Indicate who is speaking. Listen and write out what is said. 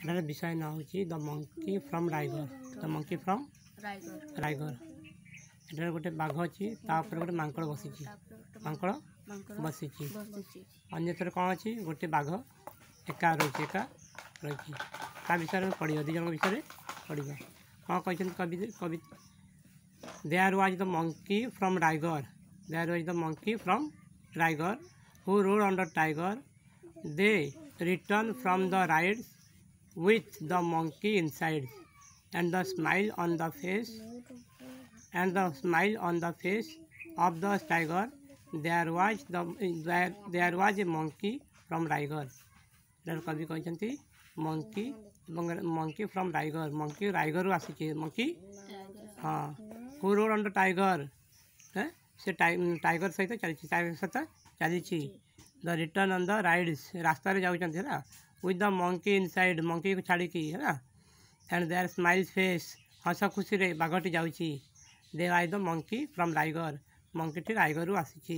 Speaker 1: ଏଟାର ବିଷୟ ନାଁ ହେଉଛି the monkey from Raigarh. The monkey from
Speaker 2: Raigarh.
Speaker 1: Raigarh. ଏଠାରେ ଗୋଟେ ବାଘ ଅଛି, ତା ଉପରେ ଗୋଟେ ମାଙ୍କଡ଼ ବସିଛି।
Speaker 2: ତାପରେ ଗୋଟେ
Speaker 1: ମାଙ୍କଡ଼
Speaker 2: ମାଙ୍କଡ଼
Speaker 1: ବସିଛି।
Speaker 2: ବସିଛି।
Speaker 1: ଅନ୍ୟଥରେ କ'ଣ ଅଛି? ଗୋଟେ ବାଘ ଏକା ରହିଛି, ଏକା ରହିଛି। ତା ବିଷୟରେ ଆମେ ପଢ଼ିବା, ଦୁଇ ଜଣଙ୍କ ବିଷୟରେ ପଢ଼ିବା। କ'ଣ କହିଛନ୍ତି କବି? କବି, there was the monkey from Raigarh. There was the monkey from Raigarh who rode under tiger. They return from the rides with the monkey inside and the smile on the face and the smile on the face of the tiger. There was a monkey from Raigarh. ଏଠାରେ କବି କହିଛନ୍ତି monkey ଏବଂ monkey from ରାଇଗର। Monkey ରାଇଗରରୁ ଆସିଛି। Monkey, ହଁ, ହୁ road under tiger, ସେ tiger ସହିତ ଚାଲିଛି, tiger ସହିତ ଚାଲିଛି। The return on the rides, ରାସ୍ତାରେ ଯାଉଛନ୍ତି, ହେଲା, ୱିଥ୍ the monkey inside, ମଙ୍କିକୁ ଛାଡ଼ିକି, ହେଲା, ଆଣ୍ଡ there smile face, ହସ ଖୁସିରେ ବାଘଟି ଯାଉଛି। There was the monkey from Raigarh. ମଙ୍କିଟି ରାଇଗରରୁ ଆସିଛି।